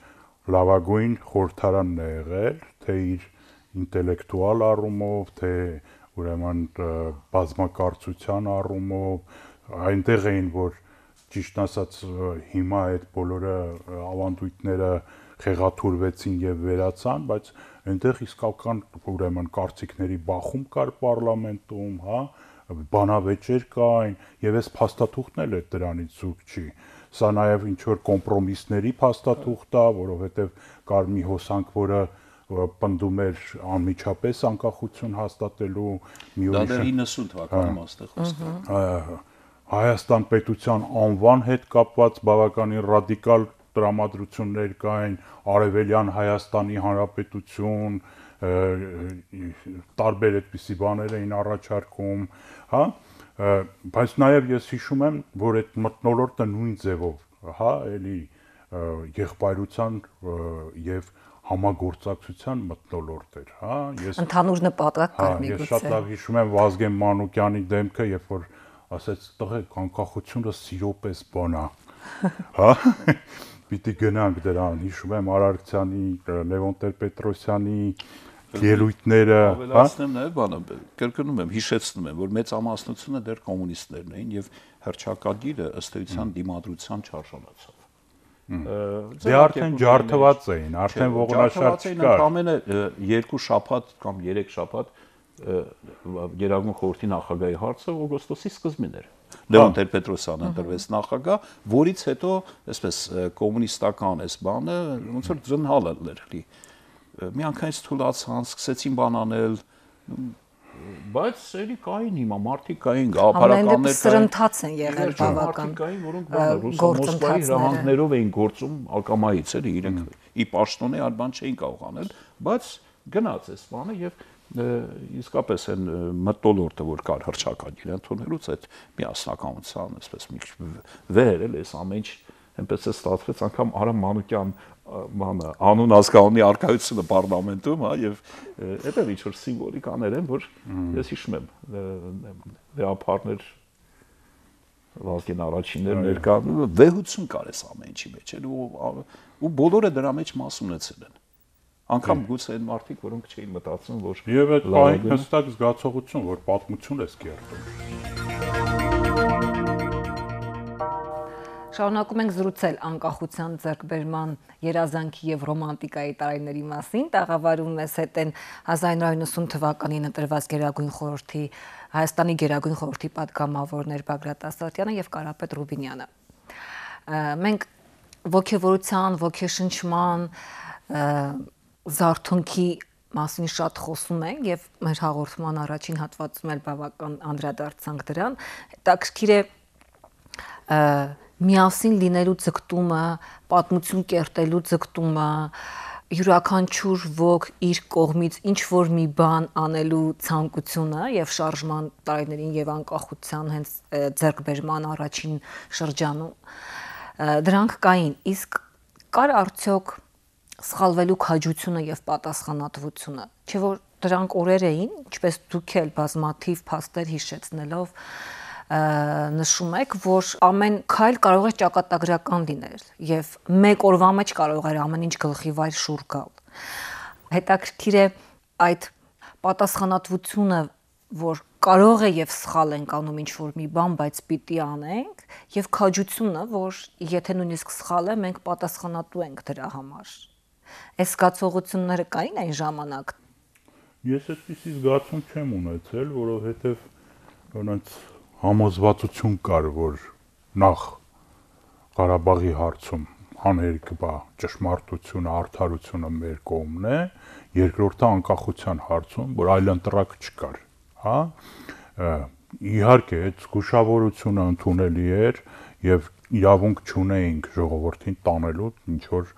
լավագույն խորհրդարանն է եղել, թե իր ինտելեկտուալ առումով, թե ուրեմն բազմակարծության առումով, այնտեղ էին, որ ճիշտ ասած հիմա այդ բոլորը ավանդույթները խեղաթուրվեցին եւ վերացան, բայց այնտեղ իսկական ուրեմն կարծիքների բախում կար պարլամենտում, հա, բանավեճեր կային եւ այս փաստաթուղթն էլ է դրանից զուրկ չի։ Սա նաեւ ինչ որ կոմպրոմիսների փաստաթուղթ է, որովհետեւ կար մի հոսանք, որը պնդում էր անմիջապես անկախություն հաստատելու մի ուրիշ 90 թվականին աստեղ Հայաստան պետության անվան հետ կապված բավականին ռադիկալ տրամադրություններ կային, Արևելյան Հայաստանի Հանրապետություն, տարբեր այդպիսի բաներ էին առաջարկում, հա, բայց նաև ես հիշում եմ, որ այդ մթնոլորտը նույն ձևով, հա, էլի եղբայրության եւ համագործակցության մթնոլորտ էր, հա, ես ընդհանուր նպատակ կար միգուցե։ Ես շատ լավ հիշում եմ Վազգեն Մանուկյանի դեմքը, երբ որ ասեց տղեկ անկախությունը սիրո պես բան է, հա, պիտի գնանք դրան, հիշում եմ Արարքցյանի, Լևոն Տեր-Պետրոսյանի ելույթները, ավելացնեմ նաև բանը, կրկնում եմ, հիշեցնում եմ, որ մեծամասնությունը դեռ կոմունիստներն էին եւ հռչակագիրը ըստ էության դիմադրության չարժանացավ։ Դե արդեն ջարդված էին, արդեն ողնաշարժ չկար։ Ամենը 2 շաբաթ կամ 3 շաբաթ Գերագույն խորհրդի նախագահի հարցը օգոստոսի սկզբին էր։ Լևոն Տեր-Պետրոսյանը ընտրվեց նախագահ, որից հետո, այսպես կոմունիստական այս բանը ոնց որ ձնհալ էր լի։ Միանգամից թուլացան, սկսեցին բան անել, բայց էլի կային հիմա մարդիկ կային, գաղափարականներ կային, սրընթաց են եղել բավական, կային, որոնք Մոսկվայի հրահանգներով էին գործում ակամայից, էլի իրենք ի պաշտոնե այլ բան չէին կարող անել, բայց գնաց այս բանը եւ իսկապես այն մթնոլորտը, որ կար հռչակագիր ընդունելուց այդ միասնականության, այսպես մի վեր էլ էս ամեն ինչ այնպես է ստացվեց, անգամ Արամ Մանուկյան բանը անուն ազգանունի արկայությունը պարլամենտում, հա, եւ այդտեղ ինչ որ սիմվոլիկաներ են, որ ես հիշում եմ վեհապարներ Վազգեն առաջիններ ներկա վեհություն կար այս ամեն ինչի մեջ, ու բոլորը դրա մեջ մաս ունեցել են։ Անկամ գուցե այն մարդիկ, որոնք չէին մտածում, որ եւ այդ պահին հստակ զգացողություն, որ պատմություն է սկերտում։ Շարունակում ենք զրուցել անկախության ձեռքբերման երազանքի եւ ռոմանտիկայի տարիների մասին։ Տաղավարում մեզ հետ են 1990 թվականին ընտրված Գերագույն խորհրդի Հայաստանի Գերագույն խորհրդի պատգամավորներ Բագրատ Ասատյանը եւ Կարապետ Ռուբինյանը։ Մենք ոգևորության, ոգեշնչման զարթոնքի մասին շատ խոսում ենք եւ մեր հաղորդման առաջին հատվածում էլ բավական անդրադարձանք դրան։ Հետաքրքիր է միասին լինելու ձգտումը, պատմություն կերտելու ձգտումը, յուրաքանչյուր ոք իր կողմից ինչ որ մի բան անելու ցանկությունը եւ շարժման տարիներին եւ անկախության հենց ձեռքբերման առաջին շրջանում դրանք կային, իսկ կար արդյոք սխալվելու քաջությունը եւ պատասխանատվությունը, չէ՞ որ դրանք օրեր էին, ինչպես դուք էլ բազմաթիվ փաստեր հիշեցնելով նշում եք, որ ամեն քայլ կարող է ճակատագրական լինել եւ մեկ օրվա մեջ կարող է ամեն ինչ գլխի վայր շուռ գալ։ Հետաքրքիր է այդ պատասխանատվությունը, որ կարող է եւ սխալ ենք անում ինչ որ մի բան, բայց պիտի անենք, եւ քաջությունը, որ եթե նույնիսկ սխալ է, մենք պատասխանատու ենք դրա համար։ Այս զգացողությունները կային այն ժամանակ։ Ես այդպիսի զգացում չեմ ունեցել, որովհետեւ ոնց համոզվածություն կար, որ նախ Ղարաբաղի հարցում անհերք բա ճշմարտությունը, արդարությունը մեր կողմն է, երկրորդը անկախության հարցում, որ այլընտրակ չկար, հա։ Իհարկե, այդ զգուշավորությունը ընդունելի էր եւ իրավունք չունեինք ժողովրդին տանելու ինչ որ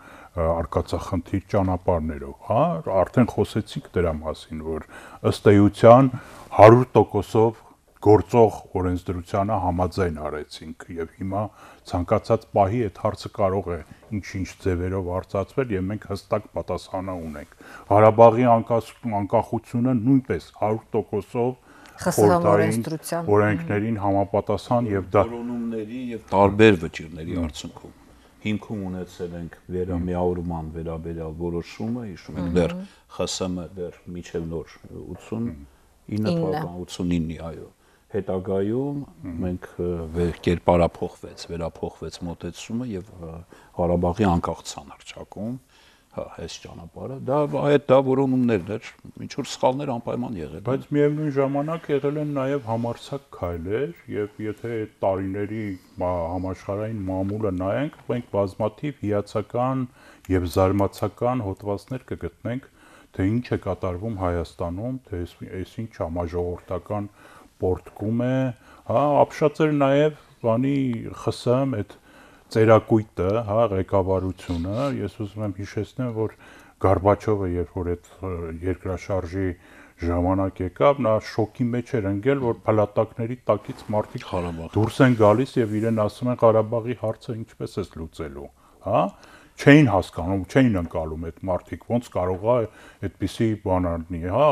արկածախնդիր ճանապարհներով, հա, արդեն խոսեցինք դրա մասին, որ ըստ էության 100%-ով գործող օրենսդրությանը համաձայն արեցինք եւ հիմա ցանկացած պահի այդ հարցը կարող է ինչ-ինչ ձևերով արծացվել եւ մենք հստակ պատասխանը ունենք։ Ղարաբաղի անկախությունը նույնպես 100%-ով խորհրդային օրենքներին համապատասխան եւ դա որոնումների եւ տարբեր վճիրների արդյունքում հիմքում ունեցել ենք վերամիավորման վերաբերյալ որոշումը, հիշում եք դեռ ԽՍՀՄ դեռ միջև նոր 89-ի, այո, հետագայում մենք վերափոխվեց մոտեցումը եւ Ղարաբաղի անկախության հռչակում, հա, այս ճանապարհը, դա որոնումներն էր, ինչ որ սխալներ անպայման եղել են։ Բայց միևնույն ժամանակ եղել են նաեւ համարձակ քայլեր եւ եթե այդ տարիների համաշխարհային մամուլը նայենք, մենք բազմաթիվ հիացական եւ զարմացական հոդվածներ կգտնենք, թե ինչ է կատարվում Հայաստանում, թե այսինչ համաժողովրդական պորտկում է, հա, ապշած էր նաեւ բանի ԽՍՀՄ այդ ծերակույտը, հա, ղեկավարությունը, ես ուզում եմ հիշեցնեմ, որ Գորբաչովը երբ որ այդ երկրաշարժի ժամանակ եկավ, նա շոկի մեջ էր ընկել, որ փլատակների տակից մարդիկ դուրս են գալիս եւ իրեն ասում են Ղարաբաղի հարցը ինչպես է լուծելու, հա, չէին հասկանում, չէին ընկալում այդ մարդիկ, ոնց կարող է այդպիսի բան լինի, հա,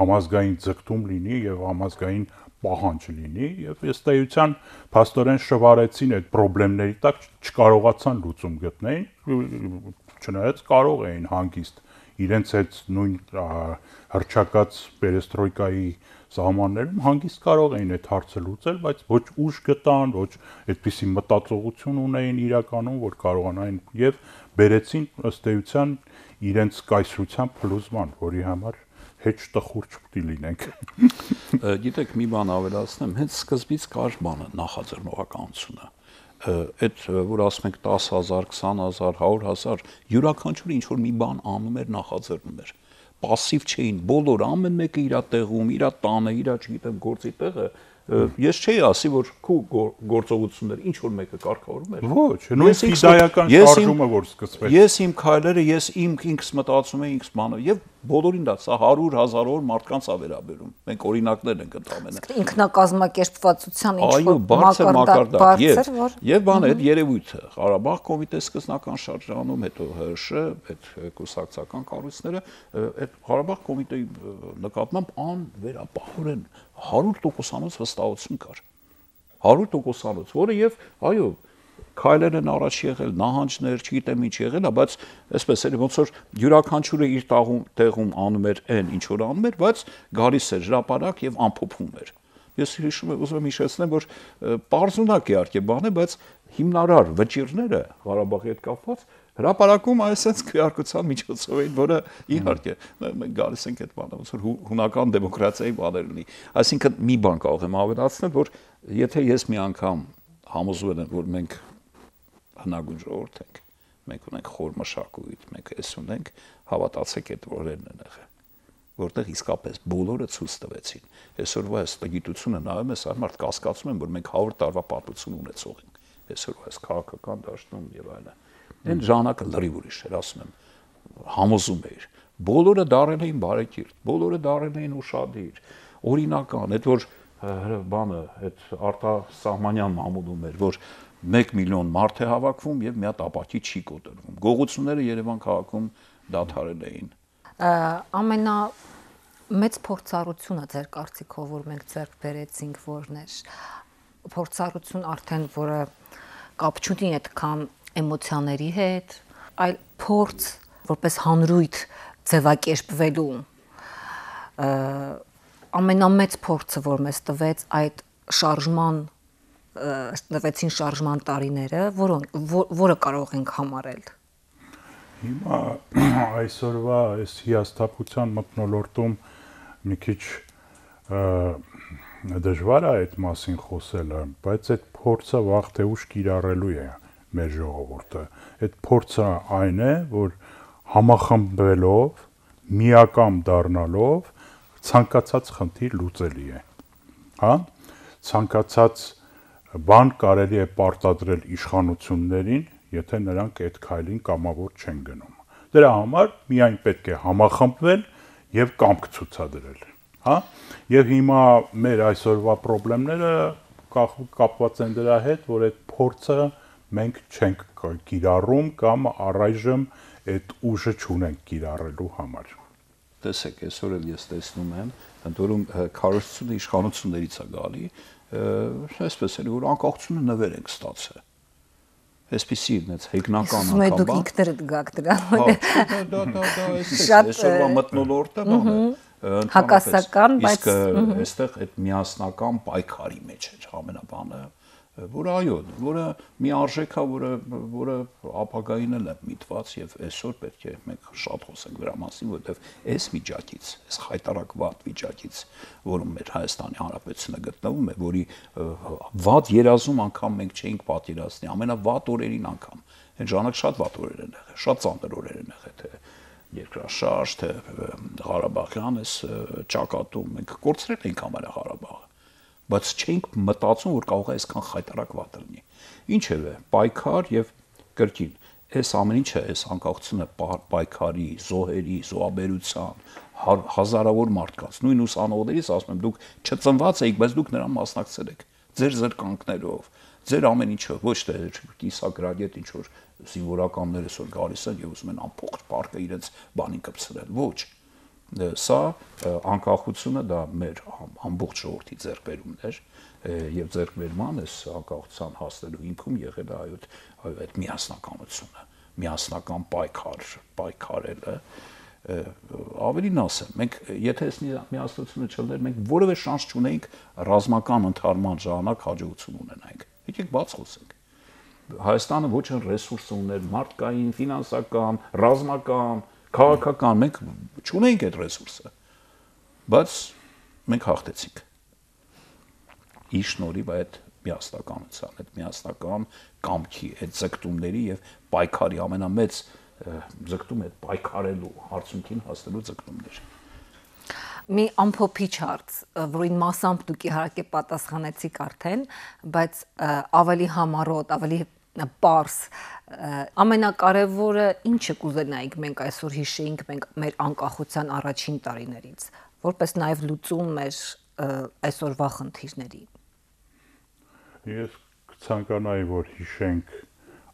համազգային ձգտում լինի եւ համազգային պահանջ լինի եւ ըստ էության փաստորեն շվարեցին այդ խնդիրների տակ չկարողացան լուծում գտնել, չնայած կարող էին հանգիստ իրենց այդ նույն հռչակած պերեստրոյկայի սահմաններում հանգիստ կարող էին այդ հարցը լուծել, բայց ոչ ուժ գտան, ոչ այդպիսի մտածողություն ունեին իրականում, որ կարողանային եւ բերեցին ըստ էության իրենց կայսրության փլուզման, որի համար հեչ տխուր չպետք լինենք։ Գիտեք, մի բան ավելացնեմ, հենց սկզբից կար բանը նախաձեռնողականությունը։ Այդ որ ասում ենք 10,000, 20,000, 100,000, յուրաքանչյուրը ինչ որ մի բան անում էր, նախաձեռնում էր։ Պասիվ չէին, բոլորը ամեն մեկը իր տեղում, իր տանը, իր, չգիտեմ, գործի տեղը ես չէի ասի, որ քու գործողությունները ինչ որ մեկը կարգավորում էր։ Ոչ, նույն ֆիդայական շարժումը որ սկսվեց։ Ես իմ քայլերը, ես ինքս մտածում եմ, ինքս բանը եւ բոլորին դա սա 100,000-ով մարդկանց է վերաբերում։ Մենք օրինակներ ենք ընդամենը։ Ինքնակազմակերպվածության ինչ որ մակարդակ եւ բան այդ երևույթը Ղարաբաղ կոմիտե սկզբնական շրջանում, հետո ՀՇ, այդ կուսակցական կառույցները, այդ Ղարաբաղ կոմիտեի նկատմամբ անվերապահորեն 100%-անոց վստահություն կար։ 100%-անոց, որը եւ այո, քայլեր են առաջ եղել, նահանջներ, չգիտեմ ինչ եղել, բայց այսպես էր, ոնց որ յուրաքանչյուրը իր տեղում անում էր այն, ինչ որ անում էր, բայց գալիս էր հրապարակ եւ ամփոփում էր։ Ես հիշում եմ, ուզում եմ հիշեցնել, որ պարզունակ իհարկե բան է, բայց հիմնարար վճիրները Ղարաբաղի հետ կապված հրապարակում այսպես քվեարկության միջոցով էին, որը իհարկե մենք գալիս ենք այդ բանը, ոնց որ հունական դեմոկրատիայի բաներ ունի։ Այսինքն մի բան կարող եմ ավելացնել, որ եթե ես մի անգամ համոզվել եմ, որ մենք հնագույն ժողովուրդ ենք, մենք ունենք խոր մշակույթ, մենք էս ունենք, հավատացեք այդ օրերն են եղել, որտեղ իսկապես բոլորը ցույց տվեցին։ Այսօրվա այս գիտությունը նայում ես, այլ մարդ կասկածում են, որ մենք 100 տարվա պատմություն ունեցող ենք։ Այսօրվա այս քաղաքական դաշտում եւ այլն։ Այն ժամանակը լրիվ ուրիշ էր, ասում եմ, համոզում էր։ Բոլորը դարել էին բարեկիրթ, բոլորը դարել էին ուշադիր, օրինական, այդ որ բանը, այդ արտասահմանյան մամուլում էր, որ 1 միլիոն մարդ է հավաքվում եւ մի հատ ապակի չի կոտրվում։ Գողությունները Երևան քաղաքում դադարել էին։ Մեծ փորձառությունը ձեր կարծիքով որ մենք ձեռք բերեցինք որն էր փորձառություն արդեն որը կապ չունի այդքան էմոցիաների հետ, այլ փորձ որպես հանրույթ ձևակերպվելու ամենամեծ փորձը որ մեզ տվեց այդ տվեցին շարժման տարիները, որը կարող ենք համարել։ Հիմա այսօրվա այս հիասթափության մթնոլորտում մի քիչ դժվար է այդ մասին խոսելը, բայց այդ փորձը վաղ թե ուշ կիրառելու է մեր ժողովուրդը։ Այդ փորձը այն է, որ համախմբվելով, միակամ դառնալով ցանկացած խնդիր լուծելի է։ Հա, ցանկացած բան կարելի է պարտադրել իշխանություններին, եթե նրանք այդ քայլին կամավոր չեն գնում։ Դրա համար միայն պետք է համախմբվել եւ կամք ցուցադրել, հա։ Եվ հիմա մեր այսօրվա խնդիրները կապված են դրա հետ, որ այդ փորձը մենք չենք կիրառում կամ առայժմ այդ ուժը չունենք կիրառելու համար։ Տեսեք, այսօր էլ ես տեսնում եմ, ընդ որում քարոզությունը իշխանություններից է գալի, այսպես էլ որ անկախությունը նվեր ենք ստացել։ Այսպեսի նենց հեգնական անգամ։ Իսկ դուք ինքներդ գաք դրան։ Դա այսօրվա մթնոլորտը բան է։ Հակասական, բայց իսկ այստեղ այդ միասնական պայքարի մեջ է ամենաբանը, որը այո, որը մի արժեք է, որը ապագային էլ է միտված եւ այսօր պետք է մենք շատ խոսենք դրա մասին, որովհետեւ այս վիճակից, այս խայտարակված վիճակից, որում մեր Հայաստանի Հանրապետությունը գտնվում է, որի վատ երազում անգամ մենք չէինք պատկերացնի, ամենավատ օրերին անգամ, այն ժամանակ շատ վատ օրեր են եղել, շատ ծանր օրեր են եղել, թե երկրաշարժ, թե Ղարաբաղյան այս ճակատում մենք կորցրել ենք Ղարաբաղը, բայց չէինք մտածում, որ կարող է այսքան խայտարակված լինի։ Ինչևէ, պայքար եւ կրկին, այս ամեն ինչը, այս անկախությունը պայքարի, զոհերի, զոհաբերության, հազարավոր մարդկանց, նույն ուսանողներից ասում եմ, դուք չծնված եք, բայց դուք նրան մասնակցել եք, ձեր զրկանքներով, ձեր ամեն ինչը, ոչ թե կիսագրադիետ ինչ որ զինվորականներ այսօր գալիս են եւ ուզում են ամբողջ պարկը իրենց բանին կպցրել, ոչ։ Սա անկախությունը դա մեր ամբողջ ժողովրդի ձեռքբերումն էր եւ ձեռքբերման այս անկախության հասնելու հիմքում եղել է այդ միասնականությունը, միասնական պայքարելը, ավելին ասեմ, մենք եթե այս միասնությունը չլներ, մենք որևէ շանս չունեինք ռազմական ընդհանրման ժամանակ հաջողություն ունենանք։ Եկեք բաց խոսենք։ Հայաստանը ոչ այն ռեսուրսը ուներ մարդկային, ֆինանսական, ռազմական, քաղաքական, մենք չունենք այդ ռեսուրսը, բայց մենք հաղթեցինք։ Ի շնորհիվ այդ միասնականության, այդ միասնական կամքի, այդ ձգտումների եւ պայքարի ամենամեծ ձգտումը այդ պայքարելու արդյունքին հասնելու ձգտումներ։ Մի ամփոփիչ հարց, որին մասամբ դուք իհարկե պատասխանեցիք արդեն, բայց ավելի համառոտ, ավելի պարզ, ամենակարևորը ինչը կուզենայիք մենք այսօր հիշեինք մենք մեր անկախության առաջին տարիներից, որպես նաև լուծում մեր այսօրվա խնդիրների։ Ես կցանկանայի, որ հիշենք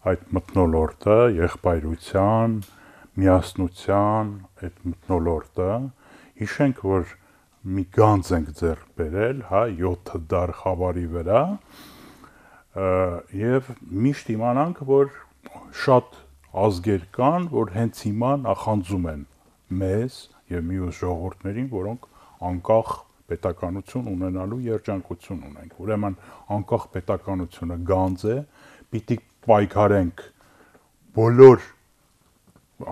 այդ մթնոլորտը, եղբայրության, միասնության, այդ մթնոլորտը, հիշենք, որ մի գանձ ենք ձեռք բերել, հա, 7 դար խավարի վրա, եւ միշտ իմանանք, որ շատ ազգեր կան, որ հենց հիմա նախանձում են մեզ եւ մյուս ժողովուրդներին, որոնք անկախ պետականություն ունենալու երջանկություն ունենք։ Ուրեմն անկախ պետականությունը գանձ է, պիտի պայքարենք բոլոր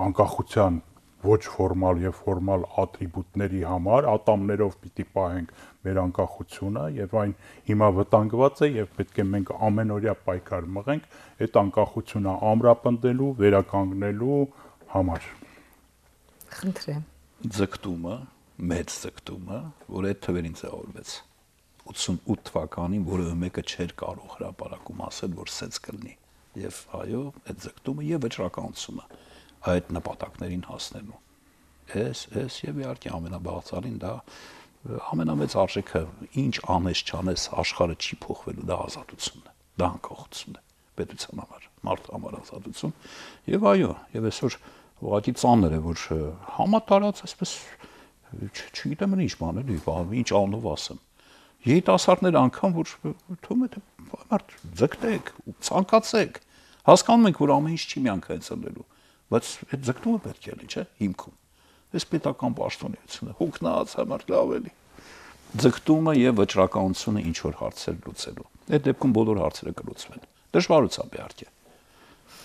անկախության ոչ ֆորմալ եւ ֆորմալ ատրիբուտների համար, ատամներով պիտի պահենք մեր անկախությունը եւ այն հիմա վտանգված է եւ պետք է մենք ամենօրյա պայքար մղենք այդ անկախությունը ամրապնդելու, վերականգնելու համար։ Խնդրեմ։ Ձգտումը, մեծ ձգտումը, որ այդ թվերին ձևավորվեց 88 թվականին, որևէ մեկը չէր կարող հրապարակում ասել, որ սենց կլինի։ Եվ այո, այդ ձգտումը եւ վճռականությունը այդ նպատակներին հասնելու։ Ես եւ իհարկե ամենաբաղձալին դա ամենամեծ արժեքը, ինչ անես չանես, աշխարհը չի փոխվելու, դա ազատությունն է, դա անկախությունն է, պետության համար, մարդու համար ազատություն։ Եվ այո, եւ այսօր ուղղակի ծանր է, որ համատարած այսպես չգիտեմ ինչ բան էլի, ինչ անով ասեմ։ Երիտասարդներ անգամ որ թվում է թե մարդ ձգտեք, ցանկացեք, հասկանում ենք, որ ամեն ինչ չի միանգամից բայց այդ ձգտումը պետք է լինի, չէ՞, հիմքում։ Այս պետական պաշտոնեությունը հոգնած համար լավ էլի։ Ձգտումը եւ վճռականությունը ինչ որ հարցեր լուծելու։ Այդ դեպքում բոլոր հարցերը կլուծվեն։ Դժվարությամբ իհարկե,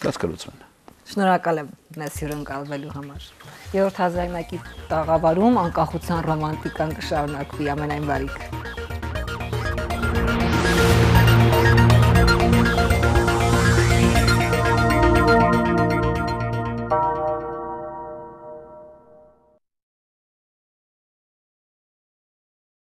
բայց կլուծվեն։ Շնորհակալ եմ մեզ հյուրընկալվելու համար։ 7 հազարամյակի տաղավարում անկախության ռոմանտիկան կշարունակվի ամենայն բարիք։